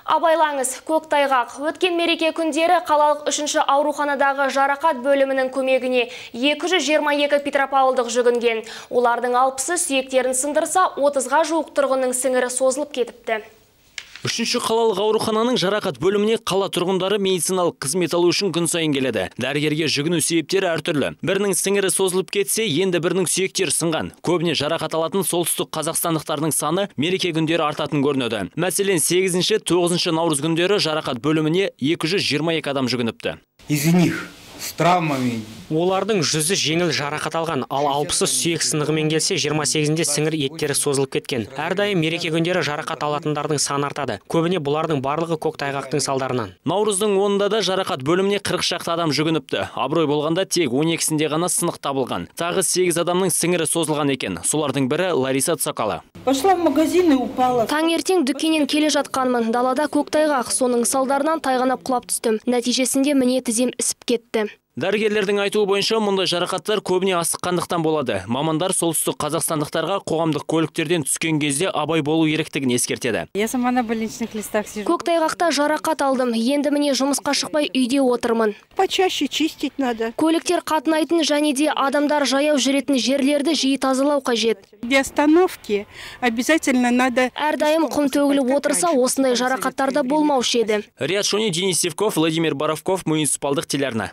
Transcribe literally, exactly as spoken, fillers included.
Абайлаңыз, көктайғақ. Өткен мереке күндері қалалық үшінші ауруханадағы жарақат бөлімінің көмегіне екі жүз жиырма екі петропавлдық жүгінген. Олардың алпысы сүйектерін сындырса, отызға жуық тұрғынның сіңірі созылып кетіпті. Үшінші қалалық аурухананың жарақат бөліміне қала тұрғындары медициналық қызмет алу үшін күн сайын келеді. Дәрігерге жүгіну себептері әртүрлі. Бірінің сіңірі созылып кетсе, енді бірінің сүйектері сынған. Көбіне жарақат алатын солтүстік қазақстандықтардың саны мереке күндері артатын көрінеді. Мәселен, сегізінші тоғызыншы наурыз күндері жарақат бөліміне екі жүз жиырма екі адам жүгініпті. Из них с травмами. Олардың жүзі жеңіл жарақат алған, ал алпысы сүйек сынығымен келсе, жиырма сегізінде сіңір еттері созылып кеткен. Әрдайым мереке күндері жарақат алатындардың саны артады. Көбіне бұлардың барлығы көктайғақтың салдарынан. Наурыздың онында да жарақат бөліміне қырық шақты адам жүгініпті. Абырой болғанда тек он екісінде ғана сынық табылған. Тағы сегіз адамның сіңірі созылған екен. Солардың бірі Лариса Цокала. Пошла в магазин и упала. Таңертең дүкеннен келе жатқанмын. Далада көктайғақ, соның салдарынан тайғанап құлап түстім. Нәтижесінде міне тізем ісіп кетті. Дәрігерлердің айтуы бойынша мұндай жарақаттар көбіне асыққандықтан болады. Мамандар солтүстік қазақстандықтарға қоғамдық көліктерден түскен кезде абай болу керектігін ескертеді. Я сама на больничных листах сижу. Көктайғақта жарақат алдым. Енді міне жұмысқа шықпай үйде отырмын. Почаще чистить надо. Көліктер қатынайтын және де адамдар жаяу жүретін жерлерді жиі тазалау қажет. Для остановки обязательно надо. Әрдайым құм төгіліп отырса, осындай жарақаттарда болмаушы еді. Риат Шони, Денис Севков, Владимир Боровков, муниципалдық телеарна.